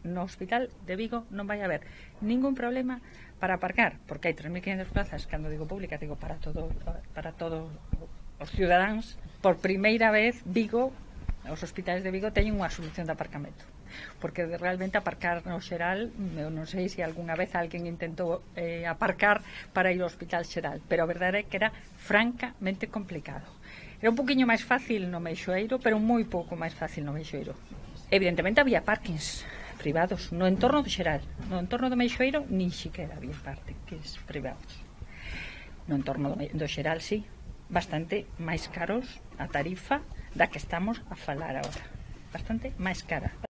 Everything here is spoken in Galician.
no Hospital de Vigo non vai haber ningún problema para aparcar, porque hai 3.500 plazas, cando digo pública, digo para todos os cidadáns. Por primeira vez, Vigo, os hospitais de Vigo teñen unha solución de aparcamento, porque realmente aparcar no xeral, eu non sei se algunha vez alguén intentou aparcar para ir ao Hospital Xeral, pero a verdade é que era francamente complicado. Era un poquinho máis fácil no Meixoeiro, pero moi pouco máis fácil no Meixoeiro. Evidentemente había parkings privados no entorno do Xeral, no entorno do Meixoeiro nin siquiera había parkings privados. No entorno do Xeral sí, bastante máis caros a tarifa da que estamos a falar agora, bastante máis cara a